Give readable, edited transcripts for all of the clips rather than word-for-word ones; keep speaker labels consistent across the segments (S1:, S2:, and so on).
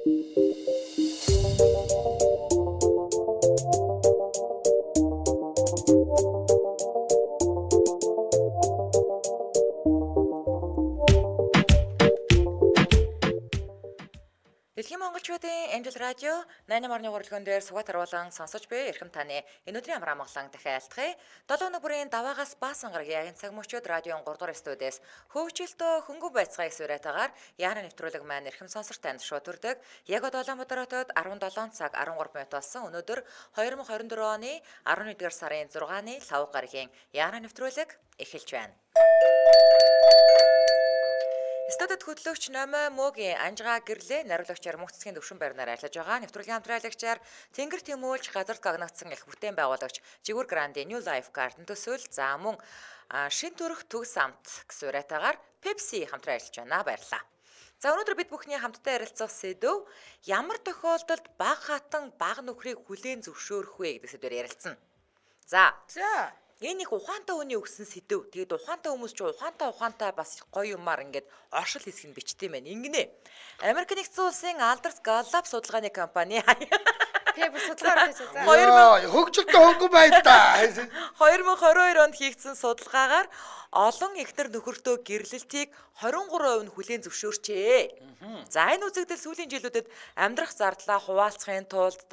S1: Дэлхийн монголчуудын Angel Radio 88.3 өргөн дээр сугат харуулан сонсож буй эрхэм таны энэ өдрийн амар амгалан дахин айлтгая. 7 өнөө бүрийн даваагаас баасан гарагийн цаг мөчөд радион 3 дугаар студиэс хөвчлөлтөө хөнгөө байцгааг сүрэтагаар яана нэвтрүүлэг маань эрхэм сонсогч танд шууд төрдөг. Яг одоо Улаанбаатар хотод 17 цаг 13 минут болсон. Өнөөдөр 2024 оны 11-р сарын 6-ны лав гарагийн яана нэвтрүүлэг эхэлж байна. Студид хөтлөгч Номой Мөгийн Анжгаа гэрлээ нариулагчаар мөнхцгийн төвшин байрнаар ажиллаж байгаа. Нэвтрүүлгийн хамтраалагчаар Тэнгэр Тэмүүлж газар гагнагдсан их бүтээн байгуулагч Жигүүр Грандын New Life Garden төсөөл за мөн шин төрөх төгс амт гэсэн урайтаагаар Pepsi хамтран ажиллаж байна. Баярлалаа. За өнөөдөр бид бүхний хамтдаа ярилцах сэдв ямар тохиолдолд баг хатан баг нөхрийг хүлээн зөвшөөрөх вэ гэдэг сэдвээр ярилцсан. За. Энэ их ухаантай хүний өгсөн сэдв. Тэгээд ухаантай хүмүүс ч ухаантай бас гоё юмар ингээд оршил хэсэг нь бичтэй байна. Ингэнэ. Америк нэгдсэн улсын Alders Gallop судалгааны компани
S2: Тэг судалгаа хийж байгаа.
S3: Хөгжилтэй хөнгөн байна да.
S1: 2022 онд хийгдсэн судалгаагаар олон эхнэр нөхөртөө гэрлэлтийг 23% нь хүлээн зөвшөөрчээ. За энэ үзэгдэл сүүлийн жилүүдэд амьдрах зардлаа хуваалцахын тулд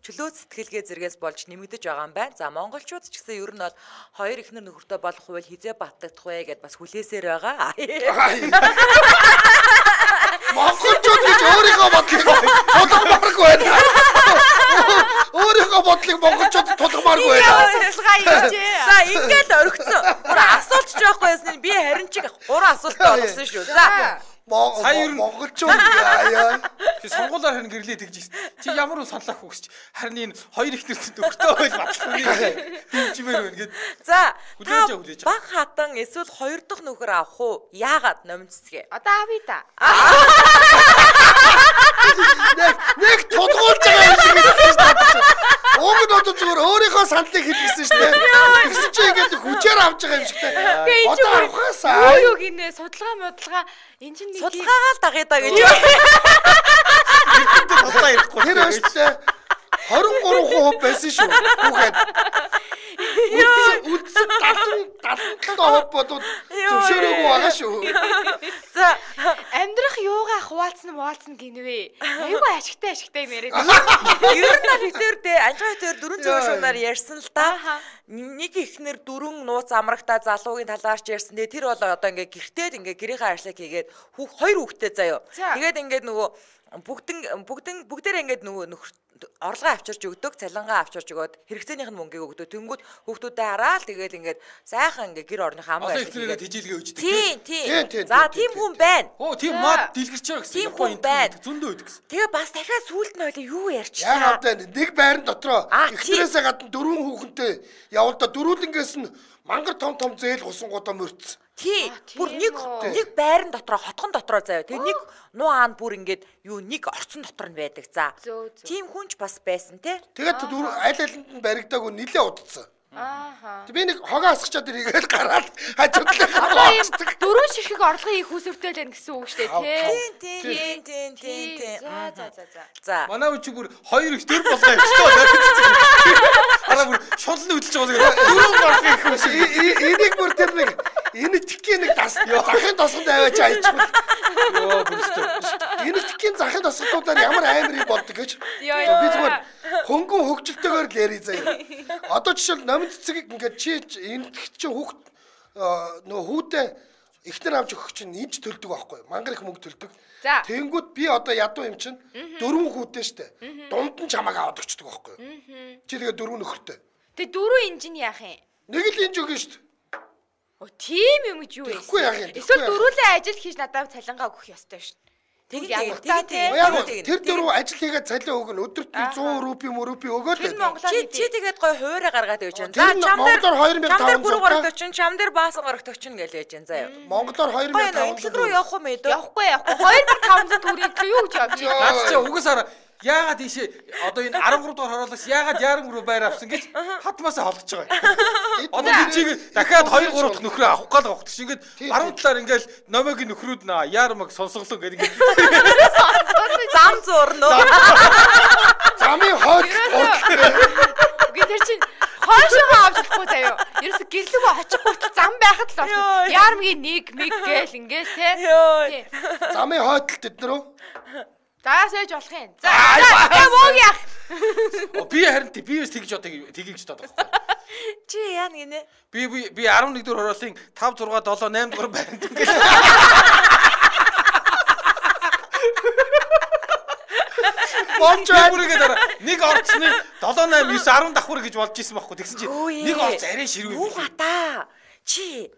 S1: чөлөө сэтгэлгээ зэрэгээс болж нэмэгдэж байгаа юм байна. За монголчууд ч гэсэн ер нь бол хоёр эхнэр нөхөртөө болох хувь хизээ баттагдах вэ гэд бас хүлээсээр байгаа.
S3: Монголчууд гэж өөрийнхөө бодлыг тулгамааргүй байна. Өөрийнхөө бодлыг монголчууд тулгамааргүй байна.
S1: За ингээд орхицсон. Асуулт ч байхгүй байсан. Би харин чиг 3 асуулт болгосон шүү. За
S3: сая ер нь монголчууд яа.
S4: Чи сонгуулаар харин гэрлээ тэгж ирсэн. Чи ямар саналаа хүсч харин энэ хоёр ихнэрсэн төгтөө байл батлахгүй дэмжмээр байна гэд.
S1: За баг хатан эсвэл хоёр дахь нөхөр авах уу? Яагаад номцсгээ?
S2: Одоо авъя да.
S3: Нэг тодгуулж байгаа юм шиг байна. Уг нь одоо зүгээр өөрийнхөө саналыг хэлсэн шүү дээ. Тэгсэн чи ингээд хүчээр авч байгаа юм шиг дээ. Одоо авахаасаа.
S2: Юу гинэ судалгаа энэ чинь нэг
S1: судалгаагаа л дагъя да гэж.
S3: Тэр өстэй 23% байсан шүү. Хүүхэд. Үдс 70% бодоод зөвшөөрөөгүй байгаа шүү.
S1: За
S2: амьдрах юугаа хуваалцсан гинвэ. Айгүй ашигтай юм яриад.
S1: Ер нь ихтер анжгаа ихтер 400 шунаар ярьсан л да. Нэг ихнэр 4 нууц амрагтаа залуугийн талаарч ярьсан. Тэр бол одоо ингээ гэртээд ингээ гэрийнхээ ажлыг хийгээд хоёр хүүхэдтэй заяа. Тэгээд ингээд нөгөө бүгдээрээ ингээд нөгөө орлогоо авчирч өгдөг, цалингаа авчирч өгөөд хэрэгцээнийх нь мөнгийг өгдөг. Тэнгүүд хүүхдүүдэд хараад тэгээд ингээд сайхан ингээд гэр орны хамгаа
S4: ажилладаг. Тэжилгээ өгдөг.
S1: Тийм. За тийм хүн байна.
S4: Оо тийм мод дэлгэрч байгаа гэсэн.
S1: Тийм хүн байна.
S4: Зөндөө өгдөг гэсэн.
S1: Тэгээ бас дахиад сүулт нь ойлоо юу ярьчлаа.
S3: Яг одоо нэг байран дотроо ихнэрээсээ гадна 4 хүүхэнтэй явуулда дөрүүлэнгээс нь мангар том зээл гусангуудаа мөрцсөн.
S1: Тий. Бүр нэг байран дотроо хотгон дотроо заяа. Тэгээ нэг нуу аанд бүр ингээд нэг орцон дотор нь байдаг. За. Тийм хүнч бас байсан те.
S3: Тэгээд аль алинд нь баригдаагүй нилээ удацсан. Тэг би нэг хогоо асгачаад иргээл гараад хажуудлаа.
S2: Дөрөв ширхэг орлогын их усүртэй л гэсэн үг шүү
S1: дээ. Тийм.
S4: За. Манай үчиг бүр хоёр их төр болгоо юм шүү дээ. Араа бүр шунлан хөдөлж байгаа юм. Дөрөв орлогын их ус.
S3: Энийг бүр тэр нэг энэ тикийн нэг захын тосгонд аваач аяжгүй.
S4: Йоо бүрстэ.
S3: Энэ тикийн захын тосгодуудаар ямар аймарыг болдог гэж. Би зүгээр хөнгөн хөгжилтэйгээр л яри заяа. Одоо жишээл номын цэцгийг ингээд чи энэ чи хүүхд нөө хүүтэй ихнэр авч өгөх чинь инж төлдөг байхгүй мангар их мөнгө төлдөг. Тэнгүүд би одоо ядуу юм чинь 4 хүүтэй штэ. Дунд нь чамааг аваад өчдөг байхгүй. Чи тэгээ 4 нөхөртэй.
S2: Тэгээ 4 инжин яах юм?
S3: Нэг л инж өгнө штэ.
S2: Тийм юм гэж юу вэ? Эсвэл дөрүүлээ ажил хийж надад цалингаа өгөх ёстой шүү.
S1: Тэгээд
S3: тэр дөрөв ажил хийгээд цалин өгнө. Өдөрт 100 рупи өгөөл.
S1: Чи тэгээд гой хуурай гаргаад явж байна.
S3: За чам дээр
S1: 2540 чам дээр баасан горогтөгчин гэж яаж байна заяа.
S3: Монголоор 2500
S1: руу явах юм ээ.
S2: Явахгүй. 2500 төгрөг юу гэж авч байна?
S4: Наад чи угсаар яагаад ийшээ одоо энэ 13 дугаар хороолоос яагаад Ярам руу байр авсан гэж хатмаасаа холдож байгаа. Одоо би чиг дахиад 2 3 дахь нөхрөө авах гал авах гэж ингээд баруун талаар ингээл номогийн нөхрүүд Ярамыг сонсголоо гэдэг.
S1: Зам урна уу?
S3: Замын хойд.
S2: Тэр чинь хойшоо авчихгүй заяа. Ерөөсө гэрлэгөө очих хүртэл зам байхад л болсон. Ярмгийн нэг гээл ингээл те.
S3: Замын хойд л тэд нар уу?
S2: За сэж болох юм. За мог яах.
S4: Би харин биээс тэгж одоо тгийгч таад байгаа.
S1: Чи яа гинэ?
S4: Би 11 дэх хороолын 5 6 7 8 дугаар баримт ингээл. Бүрийгээ дараа нэг орцны 7 8 9 10 давхар гэж болж исэн байхгүй. Тэгсэн чинь нэг орц арай ширвээ.
S1: Юу гата. Чи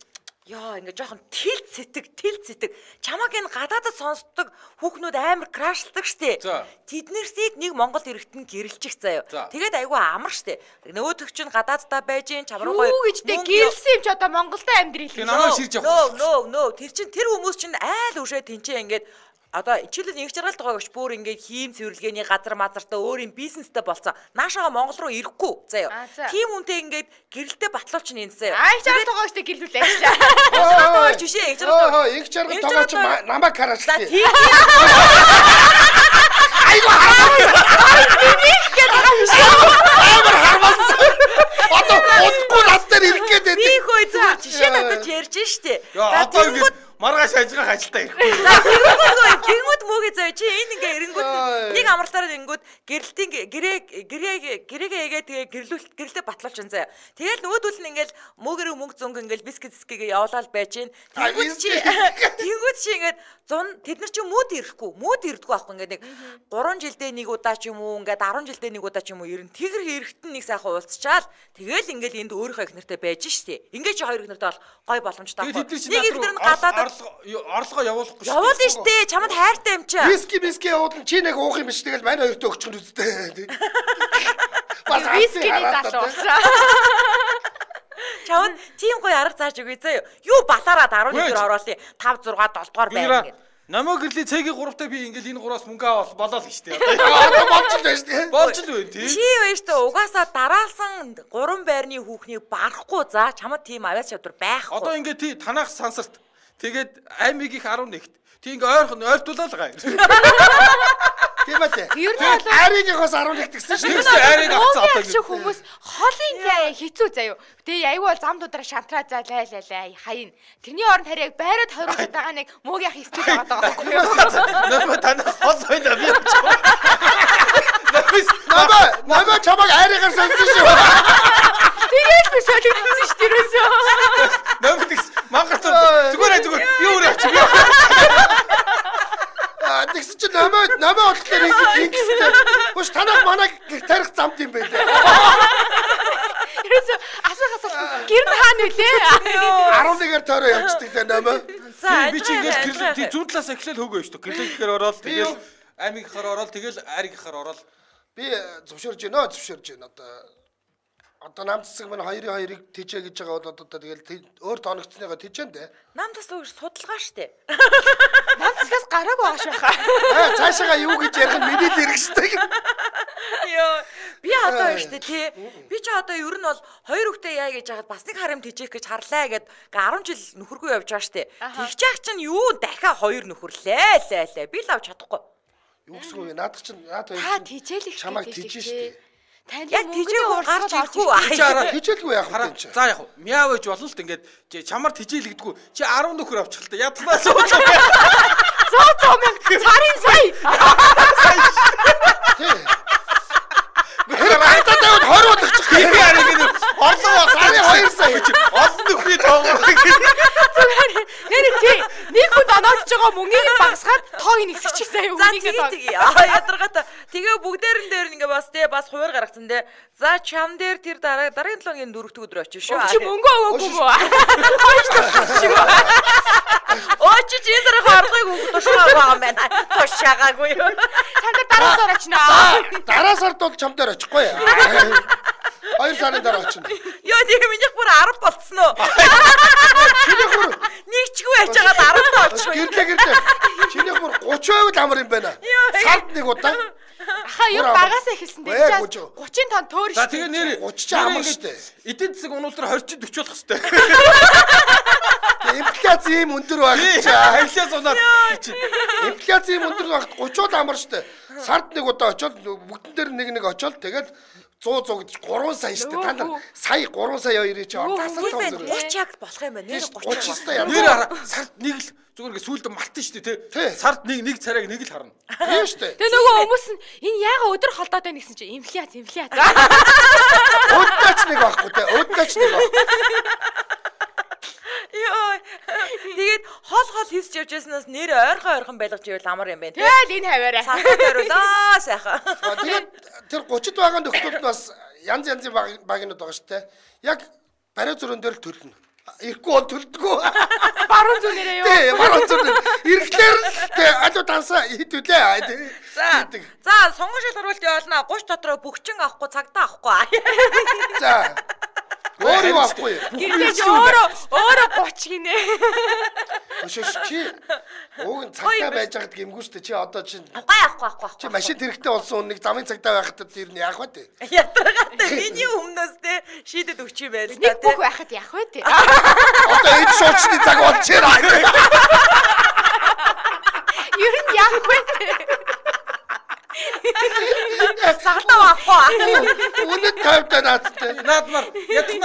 S1: яа ингээ жоохон тэлц сэтг. Чамаг энэ гадаадд сонсдог хүүхнүүд амар крашлдаг штэ. Тэднэрсийг нэг Монгол иргэдэн гэрэлчих заяа. Тэгээд айгүй амар штэ. Нөгөөдөг чинь гадааддаа байж ин чамруу гоё.
S2: Юу гэж тэг гэрэлсэн юм ч одоо Монголдо амьдрий л.
S4: Намайг ширж явах.
S1: Нөө. Тэр чинь тэр хүмүүс чинь айл үшээ тэнцээ ингээд одоо чилэл нэг жаргалд байгаа гэж бүр ингээд хийм цэвэрлэгээний газар мазартаа өөр юм бизнестэй болцсон. Наашаага Монгол руу ирэхгүй заяа. Тим үнтэй ингээд гэрэлтэй батлууч нь энэ заяа.
S2: Ай жаргал байгаа штэ гэрэлүүлээ ажлаа.
S1: Жишээ нэг жаргал.
S3: Нэг жаргал байгаа ч намайг хараач.
S1: Айгу
S3: амар хармаас. Одоо удахгүй над дээр ирэх гээд
S1: би хөөе зүгээр жишээ надад ярьж штэ.
S4: Одоо ингээд маргааш ажигах ажилдаа ирэхгүй.
S1: Гингүүд мөөгөө зөө чи энэ ингээ эрэнгүүд нэг амралтаараа эрэнгүүд гэрэлтийн гэрээгээ тэгээ гэрэлтэй батлуулчихсан заяа. Тэгэл нөгөөдөл нь ингээл мөөгөрөө мөнгө зөнгө ингээл бискетгээ явуулаад байж гин. Тэнгүүд чи ингээд тэд нар чи мод ирэхгүй байхгүй ингээд нэг 3 жилдээ нэг удаа ч юм уу ингээд 10 жилдээ нэг удаа ч юм уу ирэн тэгэр эрэхтэн нэг сайхан уулзчаал тэгэл ингээл энд өөрийнхөө их нартай байж штэ. Ингээд чи хоёр их нартай бол гой боломжтой байхгүй. Нэг их нар нь гадаад
S4: орлогоо явуулахгүй
S1: шүү. Явуулна штэ. Чамд хайртай юм чи.
S3: Виски явуулна чи нэг уух юм биш тэгэл манай хоёртой өгчих нь үстэй.
S2: Бас вискиний залуу болсон.
S1: Чамд тийм гоё арга зааж өгье зөө. Юу балаараад 11 дэх ороолын 5 6 7 дугаар байна гэдэг.
S4: Намайг гэрлийн цэгийн 3-тай би ингээл энэ 3-аас мөнгө аваад болоо л штэ.
S3: Одоо болж л байна штэ.
S4: Болж л байна тий.
S1: Чи байж та угаасаа дараалсан 3 байрны хүүхнийг барахгүй за чамд тийм авиас чадвар байхгүй.
S4: Одоо ингээд тий танах сансарт тэгээд аймиг их 11-т. Тий ингээ ойртуулаад байгаа юм.
S3: Тийм ээ. Аригийнхоос 11 гэсэн шүү.
S4: Ариг авцаа одоо
S2: гэж хүмүүс холын заяа хэцүү заяа. Тэгээ аягүй бол зам дудраа шантраа заа лайлаа хаяна. Тэрний оронд харийг байраад 20 байгаа нэг мөөг яах стил байгаа байхгүй юу?
S4: Нөө танаа хол байна би.
S3: Намаа чамаг аригаар сонсон шүү.
S2: Тэгээд би солигдсон шүү дээрээсөө.
S4: Намаа мангас зүгээр юу өрөө чи.
S3: Тэгсэн чинь намаа болохоор ингэстэй. Хөөш танах манайг тарих замт юм байлээ.
S2: Ерөөсөө асуухаас гэр нь хаана вүлээ?
S3: 11-ээр тойроо явчихдаг та намаа.
S4: Би чи ингээд зүүн талаас эхлээл хөөгөө шүү. Гэрлэгээр ороод тэгэл аймагийнхаар ороод тэгэл аригийнхаар ороод
S3: би зөвшөөрж байна одоо нам цэцэг мань хоёрыг тийчээ гэж байгаа бол одоо тэгэл өөр тооногцсныгаа тийчэн дээ.
S1: Нам цэцэг өөр судалгаа штэ.
S2: Нам цэцгээс гараагүй ааш байхаа.
S3: Цаашаага юу гэж ярих нь миний л хэрэгждэг.
S1: Йоо би одоо штэ тий. Би ч одоо ер нь бол хоёр хүүхдээ яа гэж яхад бас нэг харам тийчээх гэж харлаа гэд 10 жил нөхөргүй явж байгаа штэ. Тэгчих чинь юу дахиад хоёр нөхөрлээ. Би л авч чадахгүй.
S3: Юу гэсэн үг вэ? Наадах чинь наад хоёр.
S2: Та тийчээл их
S3: чамаг тийчээ штэ.
S1: Яг тийчээ гарч ирэхгүй.
S3: Тийчээлгүй яах вэ энэ?
S4: За яг мяа байж болно л ингээд чамар тийчээлэгдэггүй. Чи 10 нөхөр авчих л та. Ядмаа сууж.
S2: Цоо мэн царын сая.
S3: Тий. Хэрэг таад 20 удаачих.
S4: Би ариг энэ орлоо сарын 2 сая гэж олон нөхрий тоогоо.
S2: Нэр тий. Нэг хүн оноодж байгаа мөнгийг багасгаад тоог нэгсчих заяа үнийг
S1: тэгээ. Ядаргаата. Тэгээ бүгдээрэн дээр ингээ бас тий бас хуваар гаргацсан тий. За чам дээр тэр дараагийн 7 өдрийн 4-р өдөр очив шүү.
S2: Чи мөнгө өгөөгүй мүү? Хойш.
S1: Очи чи зэрэг харлыг тушаагаа юм байна. Тушаагаагүй юу?
S2: Чамд дараа сар очноо.
S3: Дараа сард бол чам дээр очихгүй. 2 сарын дараа очно.
S1: Йоо тийм минийх бүр 10 болцсон уу?
S3: Чинийх бүр
S1: нэгчгүй байж байгаа 10 болчихгүй.
S3: Гэрлээ. Чинийх бүр 30% л амар юм байна. Сард нэг удаа.
S2: Аха юу багасаа эхэлсэн дээ. 30 тонн төөр шүү.
S4: За тэгээ нэр
S3: 30 ч амар штэ.
S4: Эдийн засаг унуулдар 20 40 болох хэвээр.
S3: Инфляц ийм өндөр байх гэж.
S4: Инфляц унаад чи.
S3: Инфляц ийм өндөр байх 30-ууд амар штэ. Сард нэг удаа очоод бүгдэн дээр нэг очоод тэгээд 100 гэж 3 сая штэ. Та нар сая 3 сая 2-ыг чи засал тоон.
S1: 30 яг болох юм байна.
S3: 30 сая.
S4: Нэр хараа сард нэг л зүгээр ингээ сүүлд мартын штэ тий. Сард нэг царайг нэг л харна.
S3: Тийм штэ.
S2: Тэгээ нөгөө хүмүүс нь энэ яага өдөр холдоод байна гэсэн чинь инфляц.
S3: Өөдөөч нэг байхгүй тий. Өөдөөч нэг байхгүй.
S1: Йоо. Тэгээд хол хийсч явж яснаас нэр ойрхон байлгаж ивэл амар юм байна тий.
S2: Тэгэл энэ хаваарай.
S1: Сахад хариулаа сайхан.
S3: Тэгээд тэр 30-д байгаа нөхдүүд бас янзын багийнууд байгаа шүү дээ. Яг бариа зүрэн дээр л төлнө. Ирэхгүй бол төлдөггүй.
S2: Баруун зүнээрээ юу?
S3: Тий, баруун зүрэн. Ирэхлээр алуу тансаа хитүүлээ.
S1: За, сонгон шил харуулт явуулна. 30 дотроо бүгчин авахгүй цагтаа авахгүй.
S3: За. Өөр юу авахгүй.
S2: Гэрдэж өөрөө 30 гинэ.
S3: Өшөөш чи ууг нь цагтаа байж байгаад гэмгүй шүү дээ. Чи одоо чинь
S1: Авахгүй.
S3: чи машин хэрэгтэй болсон нэг замын цагтаа байхад тэр нь яах вэ те?
S1: Ятрагатай миний өмнөөс те шийдэд өгч юм байл
S2: Нэг бүх байхад яах вэ те?
S3: Одоо энэ шуучны цаг болчихоо.
S2: Ер нь яах вэ те?
S1: Сагтаа авахгүй.
S3: Үнэт тавьтаа наадтай.
S4: Наадмар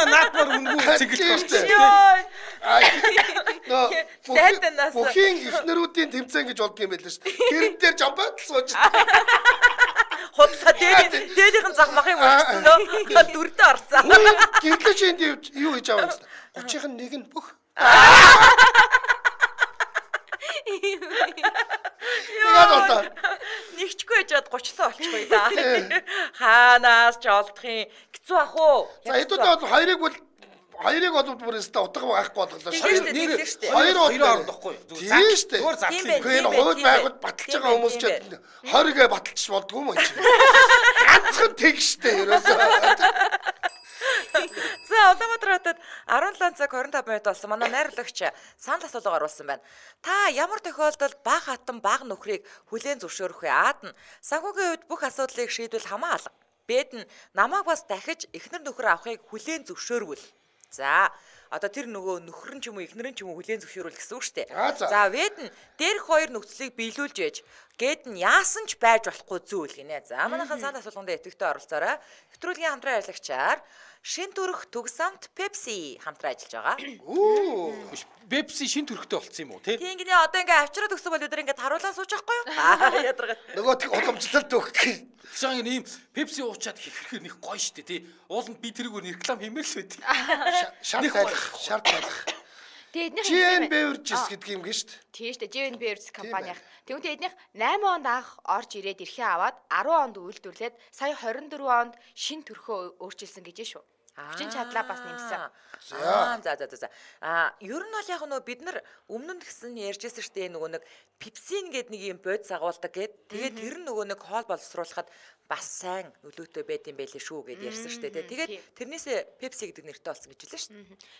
S4: наадмар үнгүй цэглэж
S3: байна. Бүхийн ихнэрүүдийн тэмцээн гэж болдго юм байл шүү дээ. Гэрэн дээр жамбаад л сууж.
S1: Хотлоо дээлийнхэн зах махын өгсөн. Дүрдээ орцсон.
S3: Гэрлэж энд юу хийж аваа юм бэ? 30-ын нэг нь бүх. Яа
S1: Нэгчгүй яжаад 30-лоо болчихгүй да. Хаанаас ч олдохын хэцүү ах уу?
S3: За хэдүүд бол хоёрыг бол бүр өстө утга байхгүй болголоо шүү дээ. Хоёр орохгүй. Тийм шүү дээ.
S4: Зүгээр зарлах юм.
S3: Энэ хууль байгуулалт баталж байгаа хүмүүс ч 20-гээ баталчих болдгүй юм чи. Ганцхан тэг штэ ерөөсөө.
S1: За Улаанбаатар хотод 17 цаг 25 минут болсон. Манай найруулагч санал асуулга оруулсан байна. Та ямар тохиолдолд баг хатан баг нөхрийг хүлээн зөвшөөрөх вэ? Аад нь санхүүгийн үед бүх асуудлыг шийдвэл хамаа алга. Бэд нь намайг бас дахиж эхнэр нөхөр авахыг хүлээн зөвшөөрвөл. За одоо тэр нөгөө нөхөр нь ч юм уу эхнэр нь ч юм уу хүлээн зөвшөөрвөл гэсэн үг шүү дээ. За вэд нь дээрх хоёр нөхцөлийг биелүүлж ээж гээд нь яасан ч байж болохгүй зүйл гинэ. За манайхан санал асуулганд идэвхтэй оролцоорой. Нэвтрүүлгийн хамтран ажиллагчаар Шин төрх Түгсамт Pepsi хамтран ажиллаж байгаа.
S4: Pepsi шин төрхтэй болцсон юм уу тий?
S1: Тийм гинэ одоо ингээ авчраад өгсөн бол өдөр ингээ харуулаа сууж байхгүй юу? Ядаргаад.
S3: Нөгөөт уламжлалт өгөх.
S4: Жаа ийм Pepsi уучаад хэрэг нэг гоё штэ тий. Ууланд би тэрийг реклам хиймээр л байд.
S3: Шарт байх.
S2: Тэгээд эднийх
S3: GN Beverages гэдэг юм гээ штэ.
S2: Тийм штэ GN Beverages компанийн. Тэгвэл эднийх 8 онд анх орж ирээд эрхээ аваад 10 онд үйлдвэрлээд сая 24 онд шин төрхөө өөрчилсөн гэж шүү. Хүчин чадлаа бас нэмсэн.
S1: За. Ер нь бол яг нөгөө бид нар өмнө нь гэсэн ярьжсэн штэ нөгөө нэг Pepsi гэдэг нэг юм бод сагуулдаг гэд. Тэгээд тэр нь нөгөө нэг хоол боловсруулахад бас сайн нөлөөтэй байд юм байлээ шүү гэд ярьсан штэ. Тэгээд тэрнээсээ Pepsi гэдэг нэртэй болсон гэж хэлсэн штэ.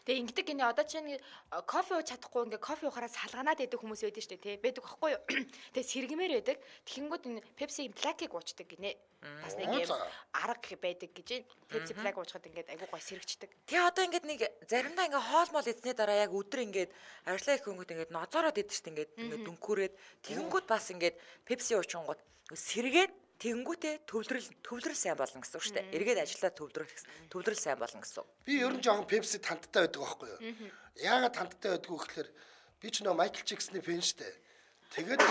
S2: Тэгээ ингэдэг гинэ одоо чинь кофе ууж чадахгүй ингээ кофе уухаараа салганаад байдаг хүмүүс байдаг штэ тий. Байдаг байхгүй юу? Тэгээ сэргэмээр байдаг. Тэгэнгүүт энэ Pepsi-ийн плакийг уучдаг гинэ. Бас нэг юм арга байдаг гэж Pepsi плак уучхад ингээд айгуу гой сэргчдэг.
S1: Тэгээ одоо ингээд нэг заримдаа ингээ хоол мол эзний дараа яг өдөр ингээд ажиллаа их хөнгөт ингээд ноцоороод идэв штэ ингээд дүнхүүрээд тэгэнгүүт бас ингээд Pepsi уучингууд сэргээд тэгэнгүүтээ төвлөрөл сайн болно гэсэн үг шүү дээ. Эргээд ажиллаад төвлөрөл сайн болно гэсэн үг.
S3: Би ер нь жоохон Pepsi танттай байдаг байхгүй юу? Яагаад танттай байдгүй гэхээр би ч нөө Michael Jackson-ы фэн шүү дээ. Тэгээд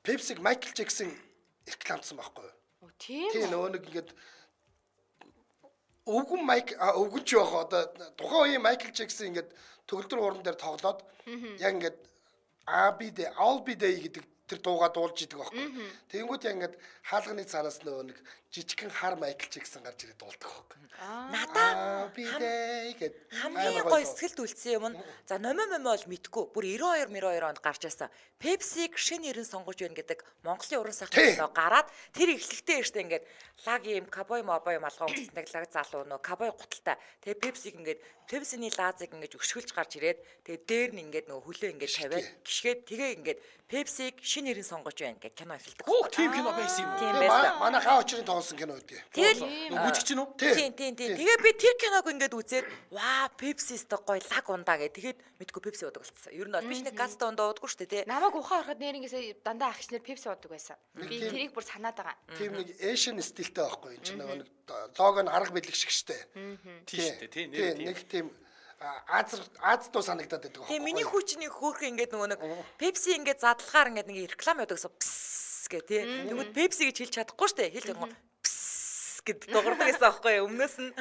S3: Pepsi-г Michael Jackson рекламдсан байхгүй юу?
S2: Тийм.
S3: Тийм нөгөө нэг ингээд өвгөн ч яах одоо тухайн үеийн Michael Jackson ингээд төгөлдөр хууран дээр тоглоод яг ингээд I'll be there гэдэг тэр дуугаа дуулж идэг байхгүй. Тэгэнгүүт яг ингээд хаалганы цаанаас нөгөө нэг жижигхэн хар Michael Jackson гарч ирээд дуулдаг байхгүй.
S1: Надаа хамгийн гоё сэтгэлд үлдсэн юм нь за номоо бол мэдгүй бүр 92 онд гарч байсан. Pepsi-г шинэ нэрэн сонгож байна гэдэг Монголын уран сайхнаас гараад тэр эхлэлтэй штэ ингээд лаг юм кабой мобой малгай өмсөнтэй лаг залуу нөө кабой гуталтай. Тэгээ Pepsi-г ингээд Pepsi-ний лаазыг ингээд өшгөлж гарч ирээд тэгээ дээр нь ингээд нөгөө хүлээ ингээд тавиад гიშгээд тэгээ ингээд Pepsi-г шинэ нэрийг сонгож байна гэх кино эхэлдэг.
S4: Оо, тийм кино байсан юм уу?
S1: Тийм байсан.
S3: Манай хаа очрын тоглосон кино үү?
S1: Тэгэл
S4: Үжигч нь үү?
S1: тийм. Тэгээ би тэр киног ингээд үзээд ваа, Pepsi сте гоё лаг ундаа гэ. Тэгээд мэдгүй Pepsi удаг болчихсон. Ер нь бол биш нэг газтай ундаа удаггүй шүү дээ, тий.
S2: Намайг ухаан ороход нэрнгээсээ дандаа ахч нар Pepsi удаг байсан. Би тэрийг бүр санаад байгаа.
S3: Тийм нэг Asian стилтэй байхгүй энэ чинь нэг лого нь арга бэлэг шиг штэ.
S4: Тийм шүү дээ, тийм
S3: нэг тийм Аз туу санагдаад байдаг байхгүй.
S1: Тийм миний хүчний хөөрхөн ингээд нөгөө нэг Pepsi ингээд задлахаар ингээд нэг реклам явуудагсаа пс гэ тий. Тэгвэл Pepsi гэж хэлж чадахгүй шүү дээ. Хэлж байгаа пс гэд дуурдаг гэсэн аахгүй юу? Өмнөөс нь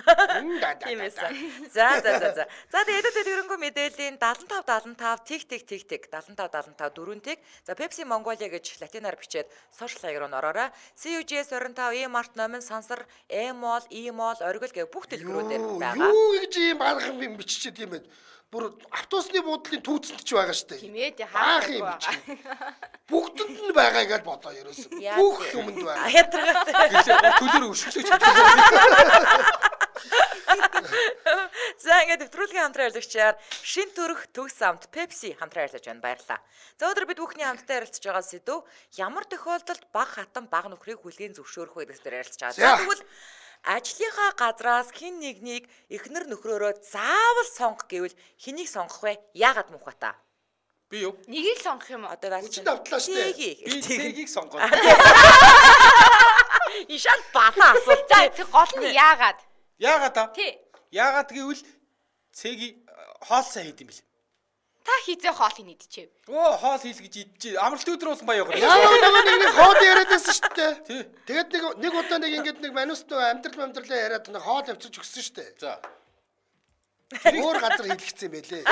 S1: тийм байсан. За. За тэгээд тэрнгүү мэдээллийн 75 тэг 75 4 тэг. За Pepsi Mongolia гэж латинаар бичээд сошиал хаяг руу ороорой. CUGS 25 E-Mart номын сансар E-Mall, E-Mall, оргил гэх бүх дэлгүүрүүдээр байгаа.
S3: Юу гэж юм барах юм биччихэд юм бэ? Бүр автобусны буудлын түүцэнд ч байгаа штэ.
S2: Тийм ээ хаах юм
S3: бичиж. Бүгдэнд нь байгаа гэж бодоо ерөөсөө. Бүх юмд байгаа.
S1: Хятаргатай.
S4: Төлөөр өшөглөж.
S1: За ингээд нэвтрүүлгийн хамтран ярилцагчаар шин төрөх төгс амт Pepsi хамтран ярилцаж байна. Баярлалаа. За өнөөдөр бид бүхний хамтдаа ярилцаж байгаа сэдв ямар тохиолдолд баг хатан баг нөхрийг хүлээн зөвшөөрөх вэ гэсэн дээр ярилцаж байгаа. За тэгвэл ажлынхаа газраас хин нэгнийг эхнэр нөхрөөрөө заавал сонгох гэвэл хэнийг сонгох вэ? Яагаад мөнх бата?
S4: Би юу?
S2: Нэгийг сонгох юм уу?
S1: Одоо
S3: Хүчтэй давтлаа штэ.
S4: Би Цэгийг сонгоо.
S1: Ишал бата асуулт.
S2: За тэр гол нь яагаад?
S4: Яагаад та?
S2: Тий.
S4: Яагаад гэвэл Цэгийг хоол сайн хийд юм бэл.
S2: Та хизээ хоол хийдчихэв.
S4: Оо, хоол хийл гэж идчихээ. Амралт өдөр болсон баяа гоо.
S3: Яагаад нэг хоол яриад байсан штэ.
S4: Тий.
S3: Тэгээд нэг удаа нэг ингэж нэг манус амьдралаа яриад нэг хоол авчиж өгсөн штэ.
S4: За.
S3: Өөр газар хийлгэсэн байлээ.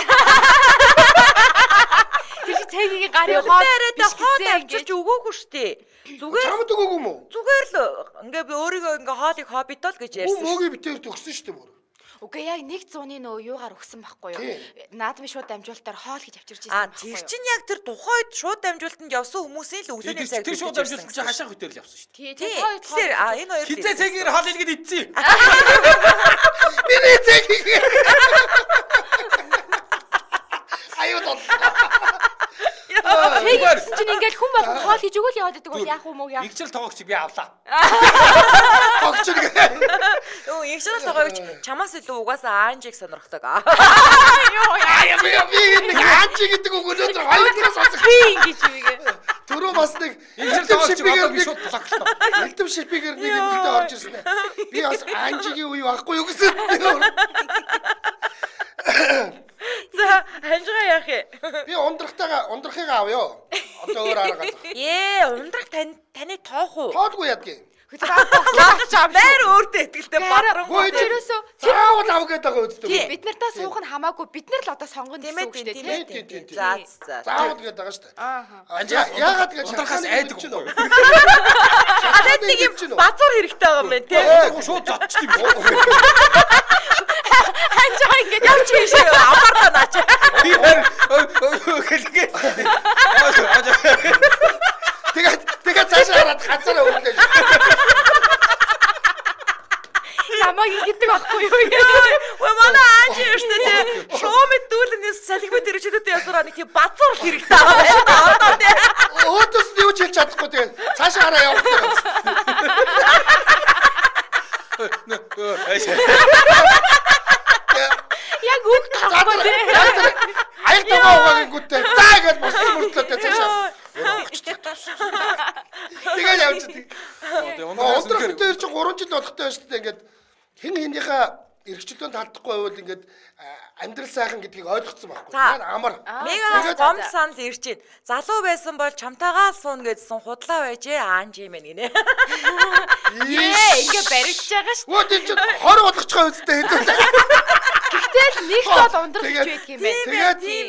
S2: Тэр Цэгийн гарын хоол
S1: яриад хоол авчиж өгөөгүй штэ. Зүгээр
S3: Чамд өгөөгүй юм уу?
S1: зүгээр л ингээ би өөрийгөө ингээ хоолыг хоббитол гэж ярьсан.
S3: Мөгийн битээр төгсөн штэ бүр.
S2: Үгүй яг 100-ны нөө юугаар өгсөн байхгүй юу? Наадмын шууд дамжуулалтаар хоол хийж авчирч
S1: А
S2: ирсэн байхгүй
S1: тэр
S2: юу?
S1: чинь яг тэр тухайд шууд дамжуулалтанд явсан хүмүүсийн л өглөөний цаг
S4: Тэр шууд амжилт чи хашаах хөтөр л явсан шүү дээ.
S2: Тий,
S1: Тэгэхээр энэ хоёр
S4: Хизээ Цэгээр хоол хийлгээд идсэн.
S3: Миний Цэгийг. Аюу тоо.
S2: Тэгсэн чинь ингээл хүн болгон хоол хийж өгөөл яваад байдаг бол яах вэ мөг яах?
S4: Игчл тоогч би авлаа.
S3: Огч нэг.
S1: Өө ягшрал тоогооч чамаас илүү угаасаа аанжиг сонирхдаг.
S3: Яа би нэг аанчи гэдэг үг өнөөдөр хоёулаас сонсох.
S2: Би ингэж үгээ.
S3: Түрүү бас нэг
S4: Игчл тоогч одоо би шууд блоклоо.
S3: элдэм шипигээр нэг юмтай орж ирсэн. Би бас аанчигийн үе байхгүй юу гэсэн.
S1: За ханжгаа яах вэ?
S3: Би ундрахыг авъё. Одоо өөр арга гал.
S1: Ундрах таны тоох уу?
S3: Тоодгүй ядгийн.
S1: Байр өөртөө ихтэй бадрангуй.
S2: Тэрөөсөө
S3: Заавал ав гэдэг байгаа үстэй.
S2: бид нартаа суух нь хамаагүй бид нар л одоо сонгоно гэсэн үг шүү дээ тий.
S1: За.
S3: Заавал гэдэг байгаа шүү дээ.
S4: Анжаа
S3: Яагаад гэж
S4: ундрахаас айдаг уу?
S1: Хадад нэг юм базар хэрэгтэй байгаа юм байна тий.
S4: Шууд зодчих юм уу?
S2: Ханжаа ингэж
S1: Явж ийшээ амарда наач.
S4: Би хэлгээ.
S3: Тэгээд цаашаа хараад хазараа өглөө.
S2: намайг ингэдэг байхгүй юу?
S1: Ой манай ааж юуштэй тий. Шоумэд дүүлэнээс салхимд ирчэдэд ясараа нэг тийм базар хэрэгтэй байна. Одоо тий.
S3: Өөдөөс нь юу ч хэлж чадахгүй тэгээд цаашаа хараа явах гэсэн.
S2: Яг үг таахгүй тий.
S3: Аяг таваа угааг гүтээ. За гэж босч мөртлөөтэй цаашаа. Тэгээд явж тий. Өндөр дээр чи 3 жил болохтой байна шүү дээ. Ингээд хэн хэнийхээ эрхчлөөнд талдахгүй байвал ингээд амьдрал сайхан гэдгийг ойлгоцсон байхгүй. Амар.
S1: Мегаас гом санал ирж байна. Залуу байсан бол чамтайгаа суун гэдсэн худлаа байжээ аанж юм гинэ.
S2: Ингээ баригдаж байгаа шүү.
S3: Оо тийм чи 20 болгоцгоо үстэй хэдүүлээ.
S2: Гэхдээ л нэг бол ундрах гэж байдаг юм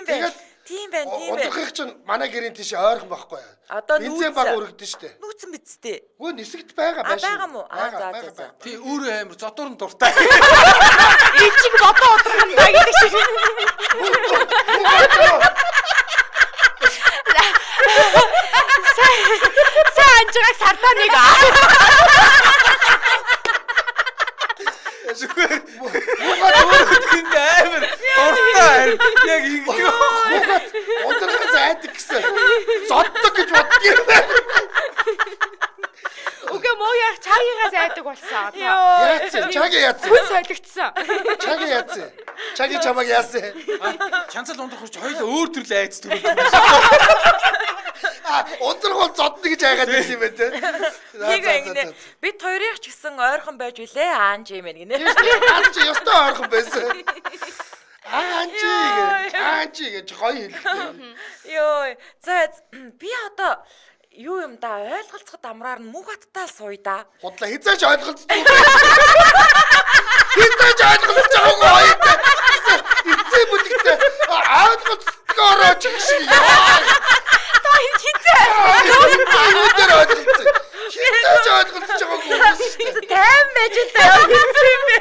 S2: байна.
S1: Тийм байна.
S3: Ундрахыг чинь манай гэрийн тийш ойрхон байхгүй.
S1: Одоо
S3: бензин баг өргөдөн штэ.
S1: Нүүцэн бидтэй.
S3: Үгүй нисэгт байгаа байшин.
S1: Байгаа мó? За.
S4: Тий өөрөө амар зодор нь дуртай.
S2: Ичиг бодоо удрах юм байна гэдэг шиг. Сайн анжигаас сардаа нэг
S4: Зүгээр. Муухай амар дуртай. Яг ингэ.
S3: Ундрах зайдаг гэсэн. Зоддог гэж
S2: Чагийнхаа зайдаг болсон.
S3: Яац. Чаги яац.
S2: Хүн солигдсон.
S3: Чаги яац. Чаги чамаг яасан.
S4: Чанцал ундрах хүч хоёул өөр төрлийн айц төрүүлж.
S3: Ундрах бол зодно гэж айгаад байт юм байна те.
S1: Бид хоёрыг ч гэсэн ойрхон байж үлээ аанч юм байна гинэ.
S3: Аанч ёстой ойрхон байсан. Аанч гэж гоё хэлдэг.
S1: Йоо. За би одоо юу юм да ойлголцоход амраар нь мөнх хаттаа сууя да.
S3: Худлаа хизээч ойлголцдог. Хизээч ойлголцож байгаагүй хоёртай. Эцээ бүлэгтэй ойлголцдог орооч шиг яа.
S1: Та хизээ.
S3: Өндөр ойлголцсон. Хизээч ойлголцож байгаагүй.
S1: Тайм байж л таа юм бэ.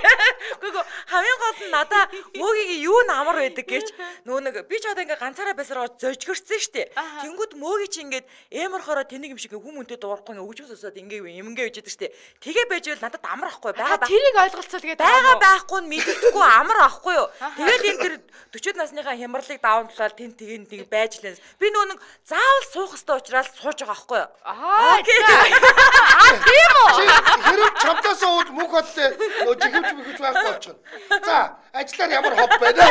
S1: Гүг хамгийн гол нь надаа мөөгийн юу н амар байдаг гэж нөө нэг би ч одоо ингээ ганцаараа байсараа зожгөрсөн штэ. Тэнгүүд мөөгийн чи ингээд эморхороо тэнийг юм шиг хүмүүнтэй дуурахгүй ингээ өгч өсөөд ингээ юмгээ үжидэг штэ. Тэгээ байж бол надад амар ахгүй байгаа.
S2: Тэрийг ойлголцол гээд
S1: байгаа байхгүй нь мэддэггүй амар ахгүй юу. Тэгэл энэ тэр 40 насныхаа хямралыг даунтлаад тэн тэг байж лээс. Би нөө нэг заавал суух ёстой учраас сууж байгаа байхгүй юу.
S2: Тийм үү.
S3: Хэрэг чамтаас ууд мөнх хоттой нөө жигвч мэгвч байхгүй болчихно. За, ажиллаар ямар хоб байна.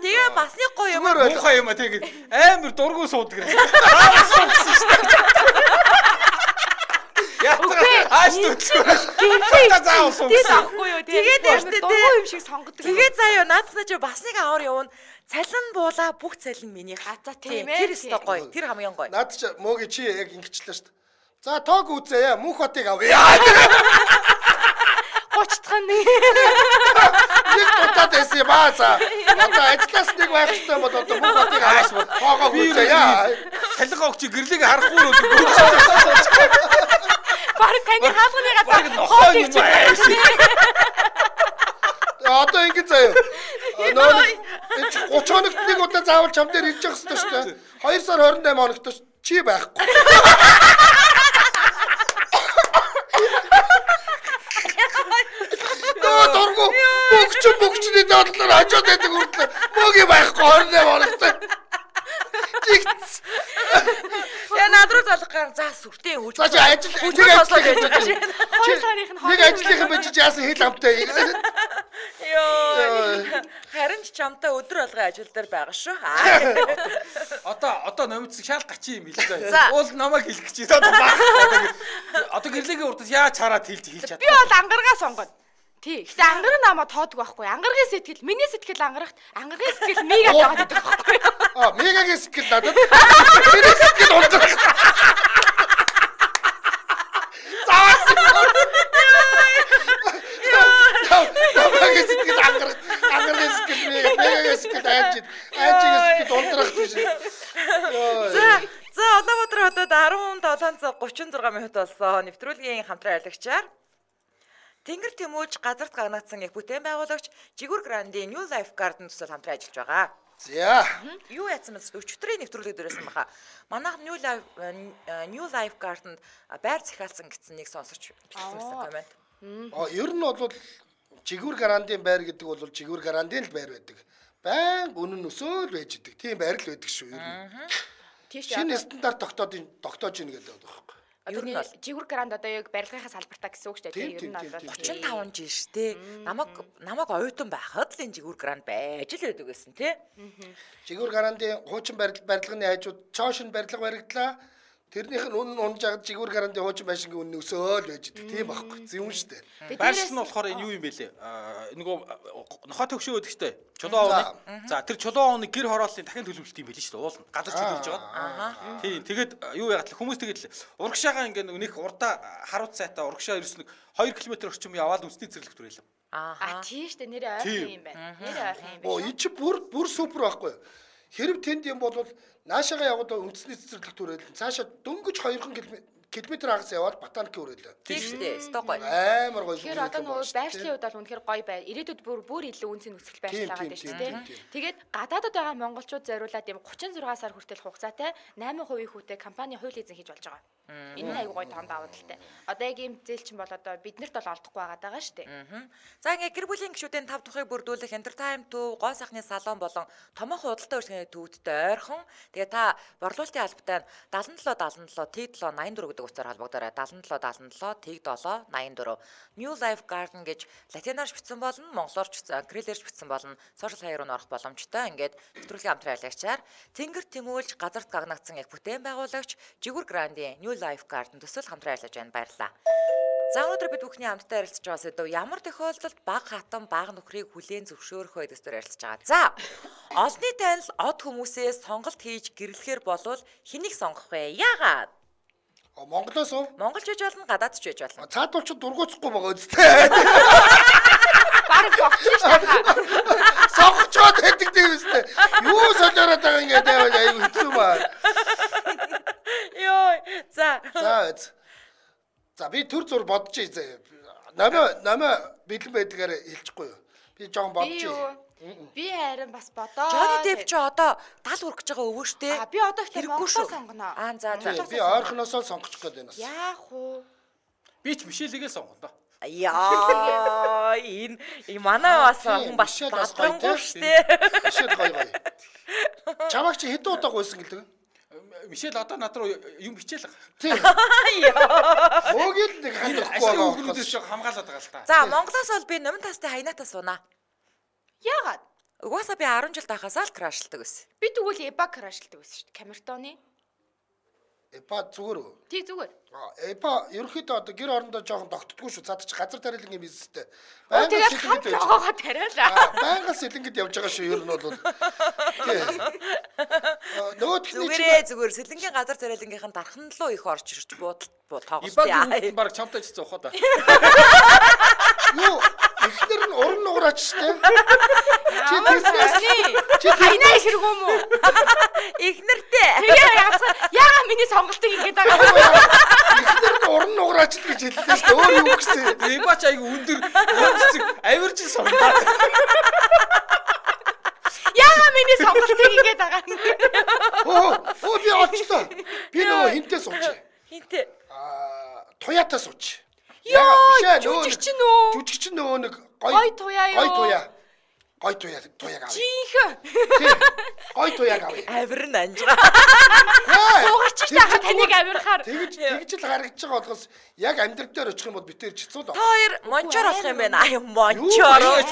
S1: Тэгээ басны гоё юм
S4: муухай юм а тэгээд амар дургуй суудаг. Суудсан шүү дээ. Ааш түлхүү. Заавал суусан.
S1: Тэгэхгүй юу. Тэгээд яштэй
S2: дургуй юм шиг сонгодог.
S1: Тэгээд заяа наадахна чи басныг аваар явна. Цалин буула бүх цалин миний.
S2: За тийм ээ.
S1: Тэр өстой гоё. Тэр хамгийн гоё.
S3: Наад чи мөөгийн чи яг ингэчлээ шүү дээ. За тоог үзээ. Мөнх хотыг авъя.
S2: 30 дахь нэг.
S3: Нэг тутаад байсан юм аа за. Одоо ажиллаас нэг байх хэрэгтэй бол одоо мөнх хотыг аваад тоогоо үзээ яа.
S4: Салхи огч гэрлийг харахгүй юу.
S2: Бараг таны хаалганы
S4: гадаа нохоо юм аа.
S3: Одоо ингэ заяа. Нөө 30 хоногт нэг удаа заавал чам дээр ирж явах хэрэгтэй шүү дээ. 2 сар 28 хоногт чи байхгүй. Дургу бүгчний дотлоор хажууд байдаг үрдлээ. Мөгийн байхгүй 28 хоногт.
S1: Я надруу залах гар за сүртэй хөөж.
S3: За чи ажил
S1: хүчээр сослоо гэж байна.
S2: 2 сарын
S3: нэг ажлынхан байж яасан хэл амтай.
S1: Йоо. Харин ч чамтай өдөр алгын ажил дээр байгаа шүү.
S4: Одоо номицыг шал гачи юм хэлээ. Уул намайг хэлэх гэж байна. Одоо гэрлэгийн урдас яаж хараад хэлж чадах.
S2: Би бол ангаргаа сонгоно. Тий. Гэтэ ангар намаа тоодог байхгүй. Ангаргийн сэтгэл, миний сэтгэл ангарахт, ангаргийн сэтгэл мега таадаг байхгүй.
S3: Мегагийн сэтгэл надад. Миний сэтгэл ундрах. Мегагийн сэтгэл ангарах, ангаргийн сэтгэл мегагийн сэтгэл айжиг сэтгэл ундрах гэж.
S1: За Улаанбаатар хотод 17 цаг 36 минут болсон. Нэвтрүүлгийн хамтран аялагчаар Тэнгэр Тэмүүж газарт гагнагдсан их бүтээн байгуулагч Жигүүр Грандийн New Life Garden төсөл хамтран ажиллаж байгаа.
S3: За.
S1: Юу яасан мэс өчигдрийн нэвтрүүлэг дээрсэн баха. Манайх New Life Garden байр захиалсан гэсэн нэг сонсож бичсэн комент.
S3: Ер нь бол Жигүүр Грандийн байр гэдэг бол Жигүүр Грандийн л байр байдаг. Баян үнэн өсөөл байж идэг. Тийм байр л байдаг шүү ер нь. Шинэ стандарт тогтоож ийн гэдэг байна.
S2: Одоо Жигүүр Гранд одоо яг барилгынхаа салбартаа гэсэн үг шүү дээ. Ер нь бол
S1: 35 жил шүү дээ. Намайг оюутан байхад л энэ Жигүүр Гранд байж л байдаг гэсэн тий.
S3: Жигүүр Грандын хуучин барилгын хажууд чоошин барилга баригдлаа. Тэрнийх нь үнэн унж агаад Жигүүр Грандын хуучин байшингийн үнэн өсөөл байж идэг. Тийм байхгүй. Зөв шүү дээ.
S4: Байшин нь болохоор энэ юу юм бэ лээ? Нөгөө нохоо төгшөө гэдэг штэ. Чулуун ууны. За тэр чулуун ууны гэр хорооллын дахин төлөвлөлт юм байл шүү дээ. Уулна. Газар чөлөөлж байгаа. Тийм. Тэгээд юу яагаад хүмүүс тэгээд урагшаага ингээ нэг урдаа харуут сайтаа урагшаа ерөөс нэг 2 км орчим яваад үндэсний цэцэрлэг төрүүлв.
S2: Тийм шүү дээ. Нэрээ ойрхон юм байна. Нэрээ ойрхон юм байна.
S3: Энэ чи бүр супер байхгүй. Хэрэг тэнд юм бол наашаага яваад үндэсний цэцэрлэг төрүүлэн цаашаа дөнгөж 2 км агаас яваад ботаник өрөөлөө.
S1: Тийм шүү дээ. Сток гоё.
S3: Амар гоё.
S2: Тэгэхээр одоо нөгөө байршлын хувьд бол үнэхээр гоё бай. Ирээдүйд бүр илүү үнцэн нөхцөл байрлал байгаа шүү дээ. Тэгээд гадаадд байгаа монголчууд зориулаад юм 36 сар хүртэл хугацаатай 8% хүүтэй компани хууль эзэн хийж болж байгаа. Энэ айгуу гоё тоон давуу талтай. Одоо яг ийм зээлчин бол одоо биднэрт бол олдохгүй байгаа шүү дээ.
S1: За ингээ гэр бүлийн гишүүдийн 5 тухыг бүрдүүлэх entertainment төв, гоо сайхны салон болон томоохон худалдаа үйлчилгээний төвөдтэй ойрхон. Тэгээ та борлуулалтын албатай 77 77 T7 84 гэдэг гэдэг утсаар холбогдорой 7777 тэг 7 84 New Life Garden гэж латинаар бичсэн болно, монголоор кириллээр бичсэн болно. Сошиал хаяг руу орох боломжтой. Ингээд нэвтрүүлгийн хамтран аялагчаар тэнгэр тэмүүлж газарт гагнагдсан их бүтээн байгуулагч Жигүр Грандийн New Life Garden төсөл хамтран аялаж байна. Баярлалаа. За өнөөдөр бид бүхний хамтдаа ярилцж байгаа сэдв ямар тохиолдолд баг хатан баг нөхрийг хүлээн зөвшөөрөх вэ гэсэн ярилцж байгаа. За олонний танил од хүмүүсээс сонголт хийж гэрлэхээр болвол хэнийг сонгох вэ? Яагаад?
S3: Монголоос уу?
S1: Монголч байж болно, гадаад ч байж болно.
S3: Цаадуулч дургуцахгүй байгаа үстэй.
S2: Бараг богч шахаа.
S3: Сонгочод хэдэг тийм үстэй. Юу солиороод байгаа ингээд аюу хэцүү баа.
S1: Йоо, за.
S3: За би төр зур бодож ий. Намаа бэлэн байдгаар хэлчихгүй юу? Би жоон бодож ий.
S2: Би харин бас бодоо.
S1: Johnny Depp ч одоо 70 хүрэх гэж байгаа өвөө штэ.
S2: Би одоо ихтэй Монголоо сонгоно.
S1: За.
S3: Би ойрхоноосоо сонгочих гээд байна.
S2: Яах вэ?
S4: Би ч Мишелигээ сонгоно.
S1: Яа, энэ манай бас хүн бас бадрангуй штэ.
S3: Мишель гоё. Чамаг чи хэд удаа гойсон гэлдэг?
S4: Мишель одоо над руу юм хичээл.
S3: Тийм. Мөгөл нэг хандахгүй байгаа.
S4: Хүүхдүүдээс жоо хамгаалаад байгаа л та.
S1: За, Монголоос бол би номын тастай хаянатаа сунаа.
S2: Яагаад?
S1: Угаасаа би 10 жил тахасаа л крашлдаг байсан.
S2: Би тэгвэл эба крашлдаг байсан шүү дээ. Камертоны.
S3: Эпа зүгээр үү?
S2: Тий зүгээр.
S3: Эпа ерөнхийдөө одоо гэр орондоо жоохон тогтдоггүй шүү. Цаад чи газар тариалангийн бизнестэй.
S2: Тэгээд хамт логоогоо тариалаа.
S3: Байнгын сэлэнгэд явж байгаа шүү. Ер нь бол.
S1: Зүгээр сэлэнгийн газар тариалангийнхан дархан руу их орж ирж тоглолт
S4: Ибагийн баг чамтай ч зоохоо да.
S3: Юу ихнэр нь уран нугараач штэ.
S2: Чи хайнаа хэрэг юм уу?
S1: Ихнэртэй.
S2: Яагаад миний сонголтыг ингэж байгаа юм?
S3: Ихнэр нь уран нугараач гэж хэллээ штэ. Өөр юу гэсэн.
S4: Ибач айгу өндөр өнцөг авирж сонгоод.
S2: Яагаад миний сонголтыг ингэж байгаа юм?
S3: Оо би олчлоо. Би нөгөө хинтээ сууч.
S1: Хинтээ.
S3: Туятаа сууч.
S2: Яа, жүжигч нөө.
S3: Жүжигч нөгөө нэг
S2: гой туяа юу?
S3: Гой туяа гав.
S2: Жинхэнэ.
S3: Гой туяа гав.
S1: Авир нь анжгаа.
S2: Суугач таа таныг авирахаар.
S3: Тэгж л харагдаж байгаа болохоос яг амьдрал дээр очих юм бол битээр чицүү л.
S1: Та хоёр мончоор болох юм байна. Аа мончоор.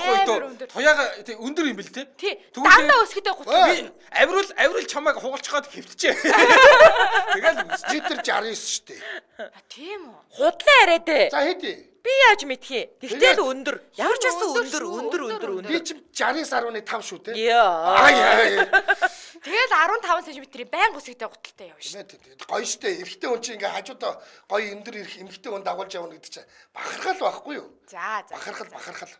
S4: Туяага өндөр юм бэл те.
S2: Дандаа өсгөдөө
S4: 30. Авирал чамайг хугалцгаад хэвтчээ. Тэгэл
S3: литр 69 шүү дээ.
S2: Тийм үү.
S1: Худлаа яриад ээ.
S3: За хэдий.
S1: Би яаж мэдхий? Тэгтэл өндөр. Ямар ч байсан өндөр.
S3: Би ч 69.5 шүү те.
S1: Яа.
S2: Тэгэл 15 см-ийн байнга өсгөдөө гуталтай явна шүү.
S3: Гоё штэ. Эрэгтэй хүн чинь ингээ хажуудаа гоё өндөр ирэх эмэгтэй хүн дагуулж явна гэдэг чинь бахархал байхгүй юу?
S2: За.
S3: Бахархал.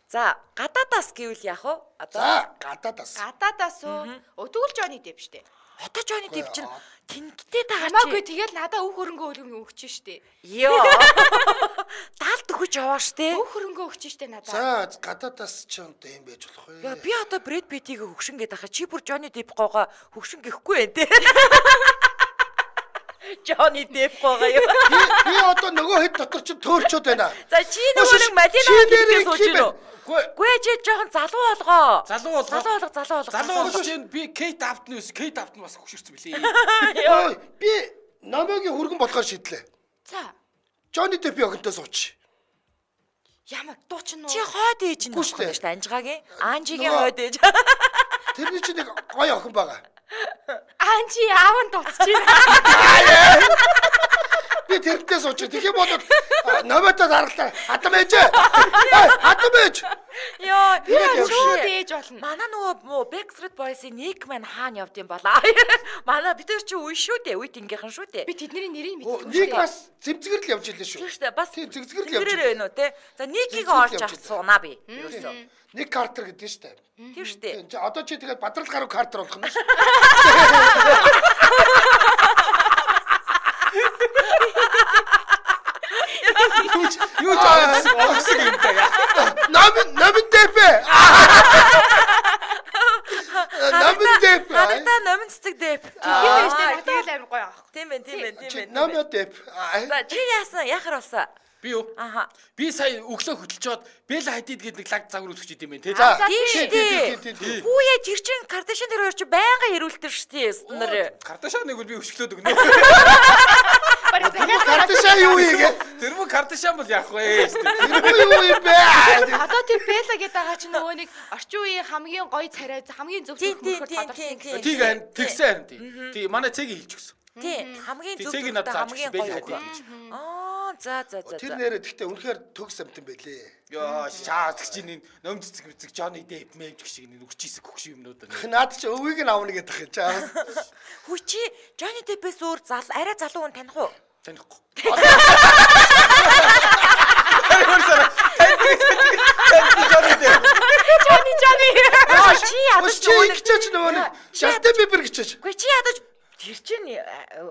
S1: За, гадаадаас гэвэл яах вэ?
S3: За, гадаадаас.
S2: Гадаадаас уу? Тэгвэл Johnny Depp штэ.
S1: Одоо Johnny Depp чинь тэнгтэй тагаа чи.
S2: Хамаагүй тэгэл надаа өөх хөрөнгө өгч штэ.
S1: Йоо. Даалт өгч яваа штэ.
S2: Өөх хөрөнгө өгч штэ надаа.
S3: За, гадаадаас ч юм ийм байж болох вэ?
S1: Яа, би одоо Brad Pitt-ийг хөгшин гэдэг хаа чи бүр Johnny Depp гоогоо хөгшин гэхгүй байх те. Johnny Depp гоогоо юу?
S3: Би одоо нөгөө хэд дотор ч төөрчөөд байна.
S1: За чи нөгөө нэг Madina-ийг сууж гинөө. Гүй чи жоохон залуу болгоо.
S4: Залуу болго чинь би Kate Upton бас хөшөрсөн билээ.
S3: Ой, би намайгийн хөргөн болохоор шийдлээ.
S2: За.
S3: Johnny Depp охинтой сууч.
S2: Ямар дуучин уу?
S1: Чи хойд ээж нь шүү дээ Анжигагийн. Анжигийн хойд ээж.
S3: Тэрний чинь нэг гоё охин байгаа.
S2: Анжи аавн дуусч байна.
S3: Би тэрнтэй сууч. Тэгэх юм бол номойтой даралтай. Хатам ээж.
S1: Йоо,
S2: шууд ээж болно.
S1: Манай нөгөө Backstreet Boys-ийн Nick Man хаана явд юм болоо. Манай бид нар чи үе шүү дээ. Үеийнххэн шүү дээ.
S2: Би тэдний нэрийг мэдгүй.
S3: Ник бас зэмзгэр л явж илээ шүү.
S1: Тийм шүү дээ. Бас
S3: зэмзгэр л явж
S1: илээ байна уу те. За Ник-ийг олж авч суунаа би. Ерөөсөө.
S3: Ник Картер гэдэг шүү дээ.
S1: Тийм шүү дээ.
S3: Одоо чи тэгээд бадрал гаруй Картер болох юм шүү.
S4: Юу жаа юм таа.
S3: Номын Depp. Номын Depp.
S1: Надад номын цэцэг Depp.
S2: Тийм ээ, надад л амар гоё аах.
S1: Тийм ээ.
S3: Номын Depp.
S1: За чи яасан? Яхаар болсон?
S4: Би юу?
S1: Аха.
S4: Би сая өглөө хөдөлж жоод Бэл Хадид гэдэг нэг лаг загвар үзэж идэм байх те.
S3: За.
S1: Тийм. Хүүе тэр чин Кардашиан тэр хоёр чи байнга ирүүлдэг шүү дээ.
S4: Кардашианыг бол би өшгөлөөд өгнө.
S3: Кардашиан юу ийгээ?
S4: Тэр мөн Кардашиан бол яах вэ?
S3: Тэр юу юм бэ?
S2: Одоо тэр Бэла гэдэг байгаа чи нөгөө нэг орчин үеийн хамгийн гоё царай хамгийн зөв хөрхөөр тодорхойлсон.
S4: Тийг тэгсэн харин тий. Манай цэгийг хэлж өгсөн.
S1: Тий. Хамгийн зөв
S4: цэгийг надад
S1: хамгийн гоё. За.
S3: Тэр нэрээ гэхдээ үнэхээр төгс амт юм байлээ.
S4: Йоо шаардлагч чинь ном цэцэг мэцэг Johnny Depp мэмж гэх шиг үрчээсэг хөгш юмнууд байна.
S3: Наад чи өвийг нь авна гэдэг юм чаа.
S1: Хүчи Johnny Depp-ээс өөр арай залуу хүн таних уу?
S4: Танихгүй.
S2: Johnny.
S1: Чи ядаж
S3: гिचэж нөгөө Justin Bieber гिचэж.
S1: Үгүй чи ядаж тэр чинь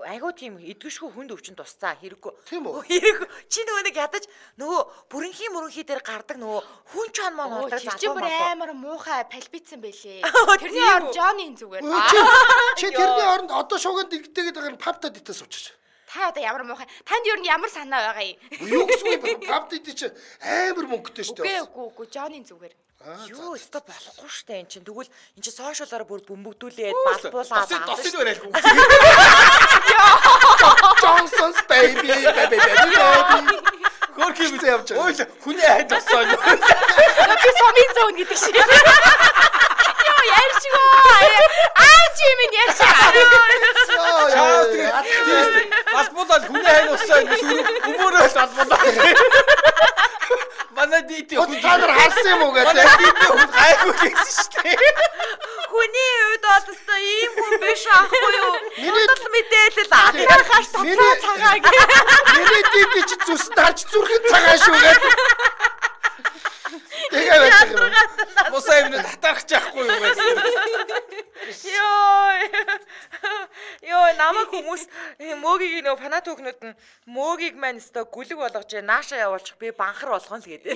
S1: айгуу тийм эдгэшгүй хүнд өвчин тусцаа хэрэггүй.
S3: Тийм үү?
S1: Хэрэггүй. Чи нөгөө нэг ядаж нөгөө бүрэнхий дээр гардаг нөгөө хүн чон маань болдог
S2: залуу бүр амар муухай пальбицсан байлээ.
S1: Тэрний
S2: ор Johnny-ийн зүгээр.
S3: Чи тэрний оронд одоо шууганд дэгдээгээд байгаа нь папта дитээс уучиж.
S2: Та одоо ямар муухай. Танд юу ямар санаа байгаа юм?
S3: Юу гэсэн бэ? Папта дит чи амар мөнгөтэй шүү дээ.
S2: Үгүй Johnny-ийн зүгээр.
S1: Юу өстө болохгүй штэ эн чинь. Тэгвэл эн чинь сошиалаар бүр бөмбөгдүүлээд балбуулаад
S4: тосыг барайлгүй.
S3: Johnson's baby.
S4: Хөрхи би явж байгаа. Ой хүний хайд болсон.
S2: Би сомын зоон гэдэг шиг. Йоо ярьчихгүй. Чи минь ярьчих.
S4: Балбуулаад хүний хайд болсон. Өмөрөөл балбуулаад. Манай дити
S3: та нар харсан юм уу гэдэг.
S4: Гайгүй гэсэн шүү дээ.
S1: Хүний үед бол өстой ийм хүн биш аахгүй юу? Минийд мэдээлэл ахаас
S3: миний
S2: цагааг.
S3: Миний дити чи зүсэнд харж зүрхэн цагаан шүү гэдэг. Тэгээ байж байгаа.
S4: Босаа юм татаарч яахгүй юу гэсэн.
S1: Йоо намайг хүмүүс мөөгийг нөгөө фанат хүүхнүүд нь мөөгийг маань өстой гүлэг болгож нааша явуулчих би банхар болгоно л гэдэг.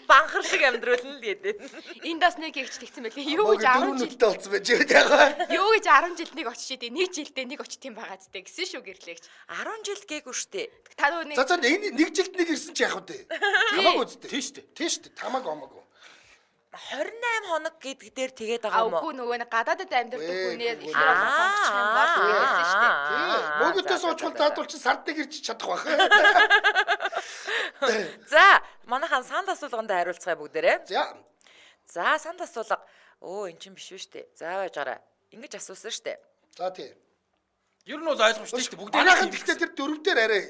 S1: Банхар шиг амьдруулна л гэдэг.
S2: Энд бас нэг ихч тэгсэн байлээ. Юу гэж 10 жил
S3: болсон байж байгаа.
S2: Юу гэж 10 жилд нэг очиж идэв. Нэг жилдээ нэг очиж тийм байгаа зү гэсэн шүү гэрлэгч.
S1: 10 жил гээгүй штэ.
S2: Та нөгөө нэг
S3: За энэ нэг жилд нэг ирсэн чи яах вэ? Хамаагүй үстэй.
S4: Тийм шүү дээ.
S3: Хамаагүй.
S1: 28 хоног гэдэг дээр тэгээд байгаа юм уу?
S2: Үгүй нөгөө нэг гадаадд амьдардаг хүнээ их сонгочих юм бол үгээсэн шүү дээ.
S3: Мөнгөтэй суучвал заадвал чи сард нэг ирж чадах байх.
S1: За, манайхан санд асуулганд хариулцгаая бүгдээрээ. За, санд асуулга. Эн чинь биш шүү дээ. За байж гараа. Ингэж асуусан шүү дээ.
S3: За тий.
S4: Ер нь бол ойлгомжтой шүү дээ. Бүгд
S3: манайхан гэхдээ тэр дөрөвдөр арай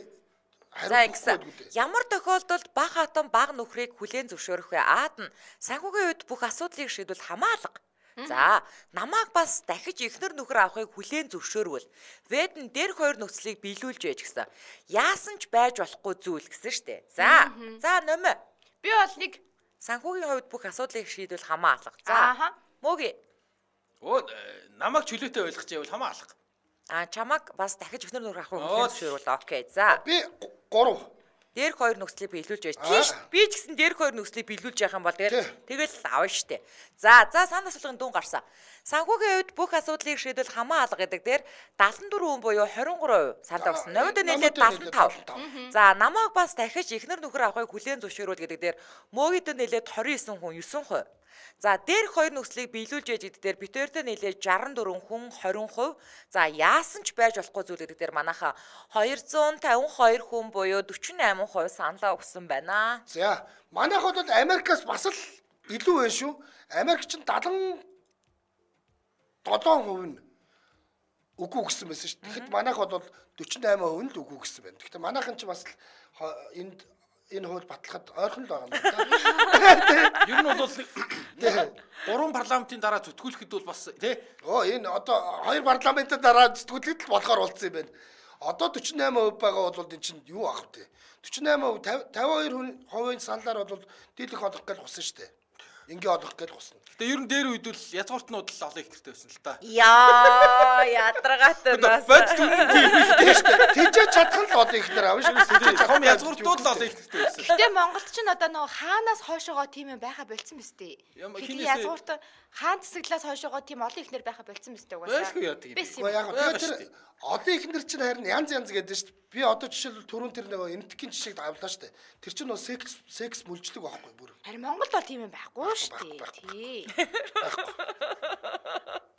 S1: За ингэсэн. Ямар тохиолдолд баг хатан баг нөхрийг хүлээн зөвшөөрөх вэ? Аад нь санхүүгийн үед бүх асуудлыг шийдвэл хамаалга. За, намайг бас дахиж эхнэр нөхөр авахыг хүлээн зөвшөөрвөл Вэд нь дээрх хоёр нөхцөлийг биелүүлж байж гисэн. Яасан ч байж болохгүй зүйл гэсэн штэ. За номё.
S2: Би бол нэг
S1: санхүүгийн хувьд бүх асуудлыг шийдвэл хамаалга. За. Мөги.
S4: Намайг чөлөөтэй ойлгож байвал хамаалга.
S1: Чамаг бас дахиж эхнэр нөхөр авахыг хүлээн зөвшөөрвөл окей. За.
S3: Би 3
S1: Дээрх хоёр нөхцөлийг биелүүлж байж. Тийш би ч гэсэн дээрх хоёр нөхцөлийг биелүүлж явах юм бол тэгэл авна штэ. За санд асуулгын дүн гарсан. Санхүүгийн үед бүх асуудлыг шийдвэл хамаа алга гэдэг дээр 74% буюу 23% санал өгсөн. Номид нэлээд 75. За намайг бас дахиж эхнэр нөхөр авахыг хүлээн зөвшөөрвөл гэдэг дээр мөөгид нэлээд 29 хүн 9%. За дээрх хоёр нөхцөлийг биелүүлж яж гэдэг дээр битээртэй нэлээд 64 хүн 20%. За яасан ч байж болохгүй зүйл гэдэг дээр манайха 252 хүн буюу 48% саналаа өгсөн байна.
S3: За манайх бол Америкаас бас л илүү байна шүү. Америк ч 77% нь үгүй гэсэн байсан шүү. Тэгэхэд манайх бол 48% нь л үгүй гэсэн байна. Тэгэхдээ манайхан ч бас энэ хууль батлахад ойрхон л байгаа юм байна.
S4: Ер нь бол гурван парламентын дараа зүтгүүлэхэд бол бас тий.
S3: Энэ одоо хоёр парламентын дараа зүтгүүлэхэд л болохоор болцсон юм байна. Одоо 48% байгаа бол энэ чинь юу ах вэ? 48% 52% саналаар бол дийлэх олох гэж хусан шүү дээ. Ингээ олох гэж хусан.
S4: Гэтэ ер нь дээр үед бол язгууртнууд л олон их хэрэгтэй байсан л та.
S1: Яа, ядаргаатай нас.
S3: Тэжээ чадах нь л олон их нэр авна шүү.
S4: Том язгууртнууд л олон их хэрэгтэй байсан.
S2: Гэтэ Монголд ч одоо нөгөө хаанаас хойшоогоо тийм юм байха болцсон биз дээ. Язгуурт хаан цэцэглээс хойшоогоо тийм олон их нэр байха болцсон биз дээ угаасаа.
S3: Яг тэгээд тэр Одоо ихнэр чинь харин янз гэдэг шүү дээ. Би одоо жишээлбэл түрүүн тэр нэг эмтгийн жишээг авлаа шүү дээ. Тэр чинь нөө секс мүлжлэг байхгүй бүр.
S2: Харин Монголд бол тийм юм байхгүй шүү дээ. Тий.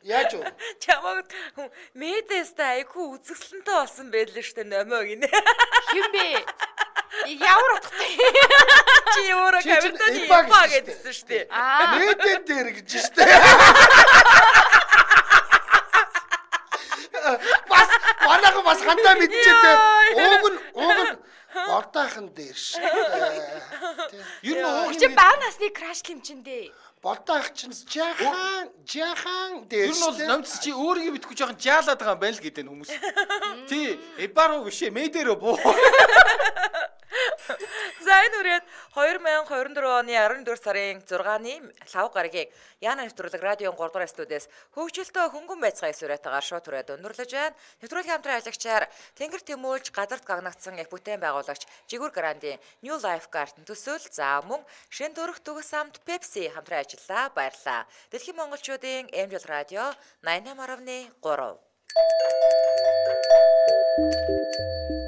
S3: Яаж вэ?
S1: Чамаг медэстэй айгүй үзэсгэлэнтэй болсон байлээ шүү дээ номоо гинэ.
S2: Хин бэ? Ямар утгатай?
S1: Чи өөрөө камертаны ипа гэдсэн шүү дээ.
S3: Медэн дээр гэж шүү дээ. Бас хандаа мэдчихээ. Ууг нь болдоохон дээр шүү дээ.
S4: Ер нь ууг
S2: чи баа насны краш хэмжиндээ.
S3: Болдоох чинь жаахан дээр.
S4: Ер нь бол номц чи өөрийгөө битггүй жоохон жаалаад байгаа юм байна л гэдэг хүмүүс. Тий, эбаруу бишээ, медэрөө буу.
S1: За энэ үрээд 2024 оны 14 сарын 6-ны 5 гарагийг Яна нэвтрүүлэг радион 3 дугаар студиэс хөгжилтөө хөнгөн байцгаа эсвэрэтээр шууд түрээд өндөрлөж байна. Нэвтрүүлгийн хамтран аялагчаар Тэнгэр Тэмүүлж газарт гагнагдсан их бүтээн байгуулагч Жигүүр Грандийн New Life Garden төсөөл за мөн шин дөрөх төгс самт Pepsi хамтран ажиллаа. Баярлалаа. Дэлхийн монголчуудын Эмжил радио 88.3